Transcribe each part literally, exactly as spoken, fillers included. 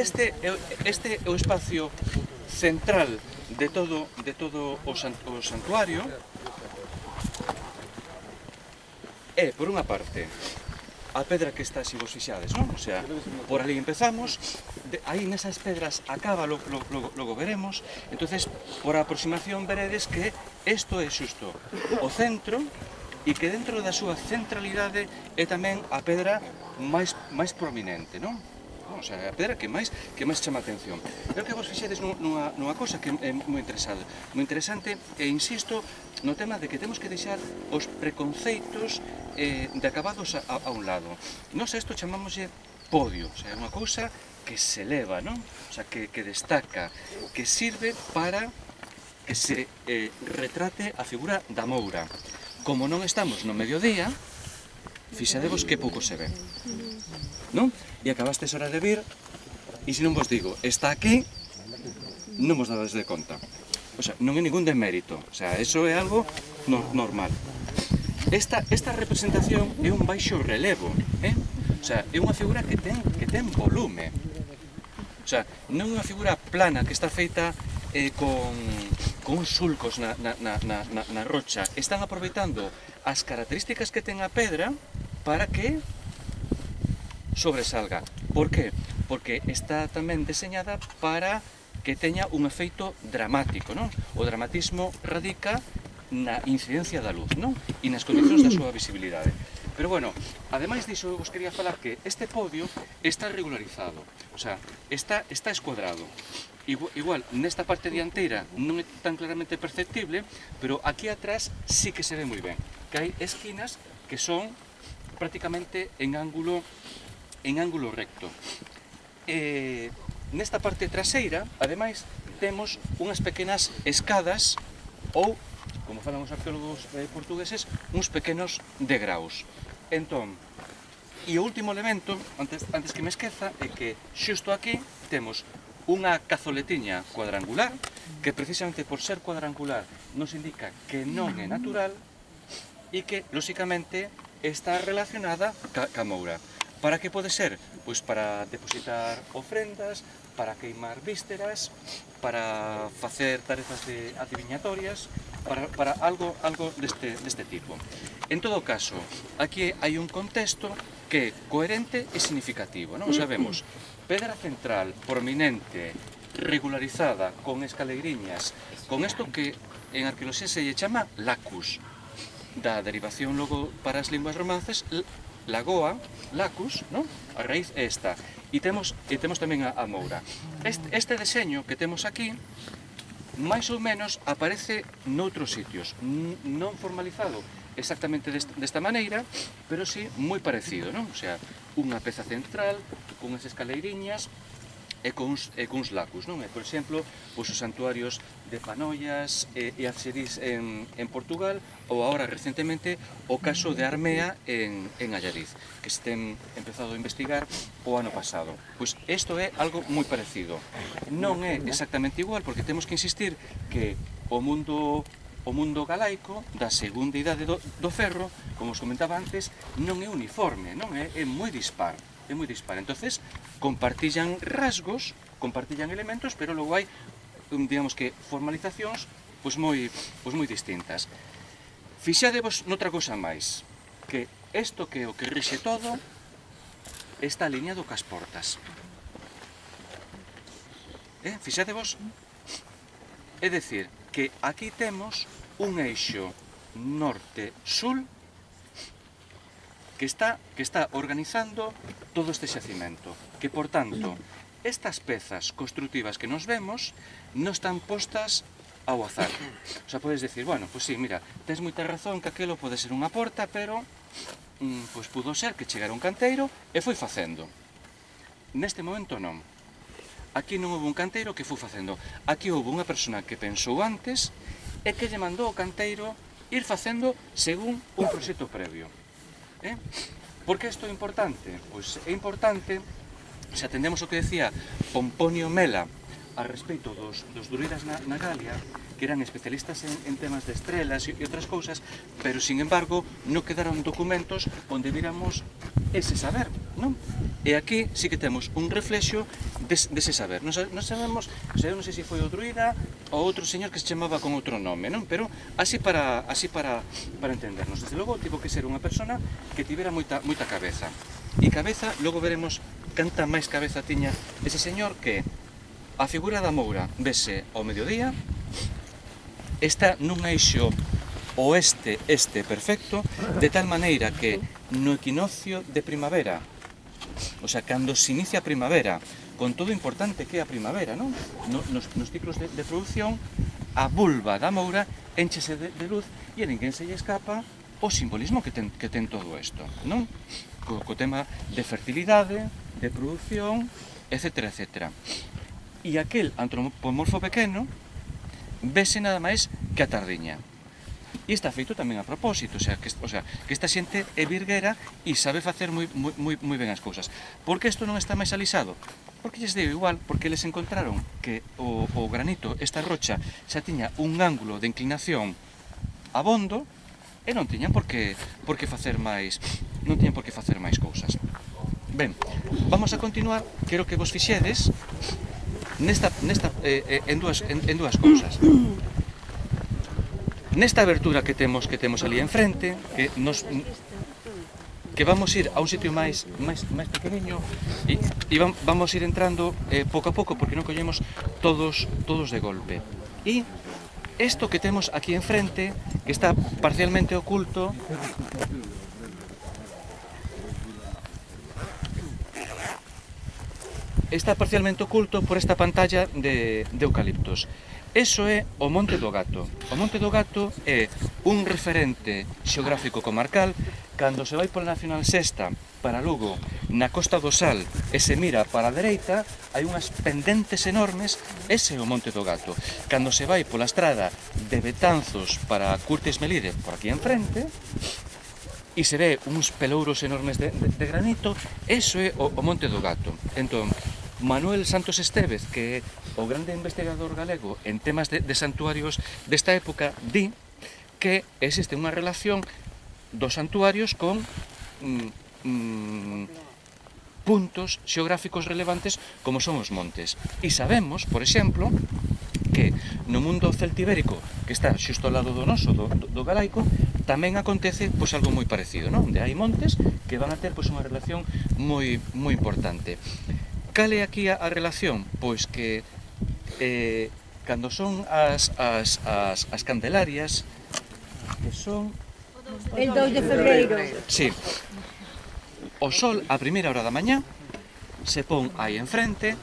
Este é, este é o espacio central de todo, de todo o, san, o santuario. É, por unha parte, a pedra que está, se vos fixades, non? O sea, por ali empezamos, de, aí nesas pedras acaba, logo, logo, logo veremos, entonces por aproximación veredes que isto é xusto o centro e que dentro da súa centralidade é tamén a pedra máis, máis prominente, non? O sea, a pedra que máis que máis chama a atención. Creo que vos fixedes nunha, nunha cosa que é moi interesante, moi interesante e insisto no tema de que temos que deixar os preconceitos eh, de acabados a, a un lado. Nós isto chamámoslle podio, o sea, é unha cousa que se eleva, non? O sea, que, que destaca, que sirve para que se eh, retrate a figura da Moura. Como non estamos no mediodía, fixadevos que pouco se ve, non? E acabastes hora de vir, e se non vos digo, está aquí, non vos dades de conta. O sea, non é ningún demérito, o sea, eso é algo no, normal. Esta, esta representación é un baixo relevo, eh? O sea, é unha figura que ten, que ten volume. O sea, non é unha figura plana que está feita eh, con, con uns sulcos na, na, na, na, na rocha. Están aproveitando as características que ten a pedra para que sobresalga. Por que? Porque está tamén deseñada para que teña un efeito dramático, non? O dramatismo radica na incidencia da luz, non? E nas condicións da súa visibilidade. Pero bueno, ademais diso, eu vos quería falar que este podio está regularizado, o sea, está, está escuadrado. Igual, igual, nesta parte dianteira non é tan claramente perceptible, pero aquí atrás sí que se ve moi ben, que hai esquinas que son prácticamente en ángulo en ángulo recto. Eh, nesta parte traseira, ademais, temos unhas pequenas escadas ou, como falan os arqueólogos eh, portugueses, uns pequenos degraus. Entón, e o último elemento, antes, antes que me esqueza, é que xusto aquí temos unha cazoletiña cuadrangular, que precisamente por ser cuadrangular nos indica que non é natural e que, lóxicamente, está relacionada ca, ca Moura. Para que pode ser? Pois para depositar ofrendas, para queimar vísceras, para facer tarefas de adiviñatorias, para, para algo, algo deste, deste tipo. En todo caso, aquí hai un contexto que é coherente e significativo, non? Sabemos, pedra central, prominente, regularizada, con escaleiriñas, con isto que en arqueoloxía se lle chama lacus, da derivación logo para as linguas romances, lagoa, lacus, non? A raíz é esta. E temos, e temos tamén a, a Moura. Este, este deseño que temos aquí, máis ou menos, aparece noutros sitios. Non formalizado exactamente desta, desta maneira, pero sí moi parecido, non? O sea, unha peza central, con as escaleiriñas, e con uns, e con uns lacus, non? E, por exemplo, pois os santuarios de Panoias e, e Alxerís en, en Portugal, ou agora recentemente o caso de Armea en, en Allariz, que se ten empezado a investigar o ano pasado. Pois isto é algo moi parecido. Non é exactamente igual, porque temos que insistir que o mundo o mundo galaico da segunda idade do, do ferro, como os comentaba antes, non é uniforme, non é, é moi dispar. É moi dispar. Entonces, compartillan rasgos, compartillan elementos, pero logo hai, digamos que, formalizacións pois moi, pois moi distintas. Fixadevos noutra cosa máis, que isto que é o que rixe todo está alineado cas portas. Eh? Fixadevos? É dicir, que aquí temos un eixo norte-sul que está, que está organizando todo este xacimento, que, por tanto, estas pezas construtivas que nos vemos non están postas ao azar. O sea, podes decir, bueno, pois sí, mira, tens moita razón que aquilo pode ser unha porta, pero mm, pois pudo ser que chegara un canteiro e foi facendo. Neste momento non. Aquí non houve un canteiro que foi facendo. Aquí houve unha persona que pensou antes e que lle mandou ao canteiro ir facendo según un proxecto previo. Eh? Por que isto é importante? Pois é importante, se atendemos o que decía Pomponio Mela a respeito dos, dos druidas na, na Galia, que eran especialistas en, en temas de estrelas e outras cousas, pero, sin embargo, non quedaron documentos onde viramos ese saber, non? E aquí sí que temos un reflexo des, dese saber. Non, non sabemos, o sea, non sei se foi o druida ou outro señor que se chamaba con outro nome, non? Pero así para, así para, para entendernos. Desde logo, tivo que ser unha persona que tivera moita, moita cabeza. E cabeza, logo veremos canta máis cabeza tiña ese señor, que a figura da Moura vese ao mediodía, está nun eixo oeste-este perfecto, de tal maneira que no equinoccio de primavera, o sea, cando se inicia a primavera, con todo importante que é a primavera, non? Nos, nos ciclos de, de produción, a vulva da Moura enchese de, de luz e a ninguén se lle escapa o simbolismo que ten, que ten todo isto, non? Co, co tema de fertilidade, de produción, etcétera, etcétera. E aquel antropomorfo pequeno vese nada máis que a tardiña. E está feito tamén a propósito, o sea, que, o sea, que esta xente é virguera e sabe facer moi, moi, moi ben as cousas. Por que isto non está máis alisado? Porque lles deu igual, porque eles encontraron que o, o granito, esta rocha, xa tiña un ángulo de inclinación abondo e non tiñan por que, por que facer máis, non tiñan por que facer máis cousas. Ben, vamos a continuar, quero que vos fixedes nesta, nesta, eh, en, dúas, en, en dúas cousas. Nesta abertura que temos que temos ali enfrente, que nos que vamos ir a un sitio máis máis máis pequeniño e, e vamos ir entrando eh, pouco a pouco, porque non collemos todos todos de golpe. E isto que temos aquí enfrente, que está parcialmente oculto, está parcialmente oculto por esta pantalla de, de eucaliptos. Eso é o Monte do Gato. O Monte do Gato é un referente xeográfico comarcal. Cando se vai pola Nacional Sexta para Lugo, na Costa do Sal, e se mira para a dereita, hai unhas pendentes enormes, ese é o Monte do Gato. Cando se vai pola estrada de Betanzos para Curtis Melide, por aquí enfrente, e se ve uns pelouros enormes de, de, de granito, eso é o, o Monte do Gato. Entón, Manuel Santos Estévez, que é o grande investigador galego en temas de, de santuarios desta época, di que existe unha relación dos santuarios con mm, mm, puntos xeográficos relevantes como son os montes. E sabemos, por exemplo, que no mundo celtibérico, que está xusto ao lado do noso, do, do galaico, tamén acontece pois algo moi parecido, non? Onde hai montes que van a ter pois unha relación moi moi importante. Cal é aquí a, a relación? Pois que eh, cando son as, as, as, as Candelarias, que son el dous de febreiro. Sí. O sol a primeira hora da mañá se pon aí enfrente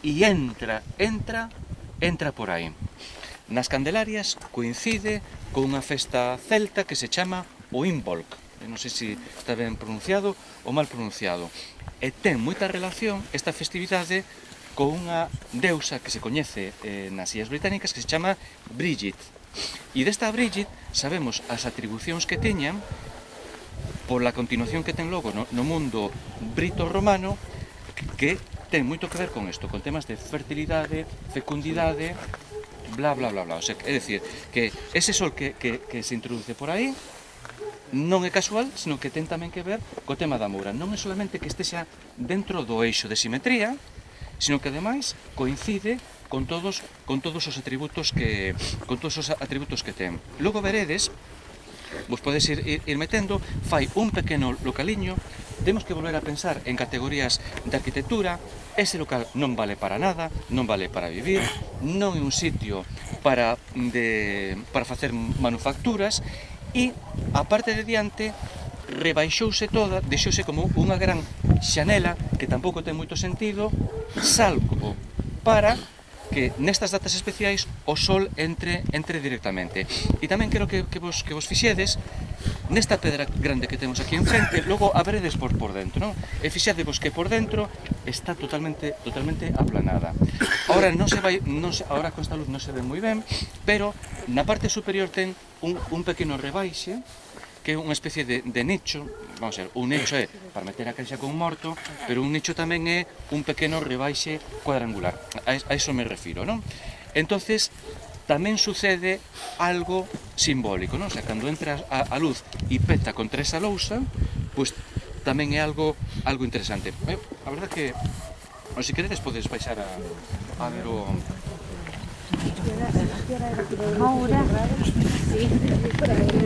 e entra, entra, entra por aí. Nas Candelarias coincide con unha festa celta que se chama o Imbolc. Non sei se está ben pronunciado ou mal pronunciado. E ten moita relación esta festividade con unha deusa que se coñece eh, nas Illas Británicas, que se chama Brígid. E desta Brígid sabemos as atribucións que teñan pola continuación que ten logo no, no mundo brito-romano, que ten moito que ver con isto, con temas de fertilidade, fecundidade, bla, bla, bla, bla. O sea, é dicir, que ese sol que, que, que se introduce por aí non é casual, sino que ten tamén que ver co tema da Moura. Non é solamente que estexa dentro do eixo de simetría, sino que ademais coincide con todos con todos os atributos que con todos os atributos que ten. Logo veredes, vos podes ir, ir, ir metendo, fai un pequeno localiño. Temos que volver a pensar en categorías de arquitectura. Ese local non vale para nada, non vale para vivir, non é un sitio para de para facer manufacturas. E a parte de diante rebaixouse toda, deixouse como unha gran xanela que tampouco ten moito sentido, salvo para que nestas datas especiais o sol entre entre directamente. E tamén quero que, que, vos, que vos fixedes nesta pedra grande que temos aquí enfrente, logo a veredes por, por dentro, non? E fixadevos que por dentro está totalmente totalmente aplanada. Ahora non se vai, non se, ahora con esta luz non se ve moi ben, pero na parte superior ten un, un pequeno rebaixe que é unha especie de, de nicho, vamos a ver, un nicho é para meter a caixa con morto, pero un nicho tamén é un pequeno rebaixe cuadrangular, a, a iso me refiro, non? Entonces, tamén sucede algo simbólico, non? O sea, cando entra a, a luz e peta contra esa lousa, pois tamén é algo algo interesante. Eh, a verdad que, non, se queredes podes baixar a, a ver o... Ahora, sí.